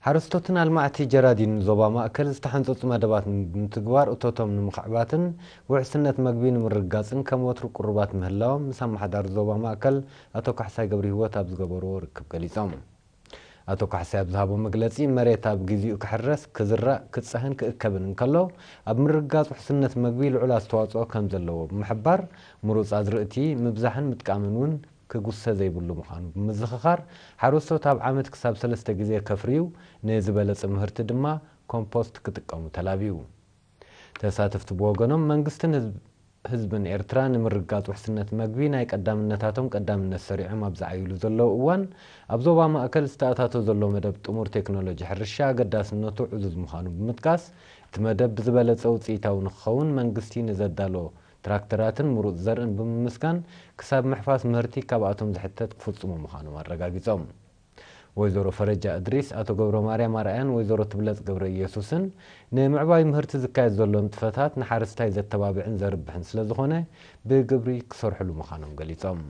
ሓረስቶትን ኣልማዕቲ ጀራዲን ዞባ ማእከል ዝተሓንጸጹ መደባት ንምትግባር እቶቶም ንምኽዕባትን ውሕስነት መግቢ ንምርግጋጽን ከም ወትሩ ቅሩባት ምህላዎም ምስ ኣመሓዳሪ ዞባ ማእከል ኣቶ ካሕሳይ ገብረሂወት ኣብ ዝገበርዎ ርክብ ገሊጾም። ኣቶ ካሕሳይ ኣብ ዝሃቦ መግለጺ፣ መሬት ኣብ ግዜኡ ክሕረስ፣ ክዝራእ፣ ክጸህን ክእከብን እንከሎ፣ ኣብ ምርግጋጽ ውሕስነት መግቢ ልዑል ኣስተዋጽኦ ከም ዘለዎ ብምሕባር፣ ምሩጽ ኣዝርእቲ ምብዛሕን ምጥቃምን እውን ክጉሰ ዘይብሉ ምዃኑ ብምዝኽኻር፣ ሓረስቶት ኣብ ዓመት ክሳብ ሰለስተ ግዜ ከፍርዩ፣ ንዝበለጸ ምህርቲ ድማ ኮምፖስት ክጥቀሙ ተላብዩ። ተሳተፍቲ ብወገኖም፣ መንግስትን ህዝብ-፣ ህዝብን ኤርትራ ንምርግጋጽ ውሕስነት መግቢ ናይ ቀዳምነታቶም ቀዳምነት ሰሪዖም ኣብ ዝዓይሉ ዘለዉ እዋን፣ ኣብ ዞባ ማእከል ዝተኣታቶ ዘሎ መደብ ጥሙር ቴክኖሎጂ ሕርሻ ኣገዳስነቱ ዕዙዝ ምዃኑ ብምጥቃስ፣ እቲ መደብ ብዝበለጸ ውጽኢታዊ ንክኸውን መንግስቲ ንዘዳሎ ትራክተራትን ምሩጽ ዘርእን ብምምስጋን፣ ክሳብ ምሕፋስ ምህርቲ ካብኣቶም ዝሕተት ክፍጽሙ ምዃኖም ኣረጋጊጾም። ወይዘሮ ፈረጃ እድሪስ፣ ኣቶ ገብረ ማርያም ኣርኣያን ወይዘሮ ትብለጽ ገብረ ኢየሱስን፣ ንምዕባይ ምህርቲ ዝካየድ ዘሎ ንጥፈታት ንሓረስታይ ዘተባብዕን ዘርብሕን ስለ ዝኾነ፣ ብግብሪ ክሰርሕሉ ምዃኖም ገሊጾም።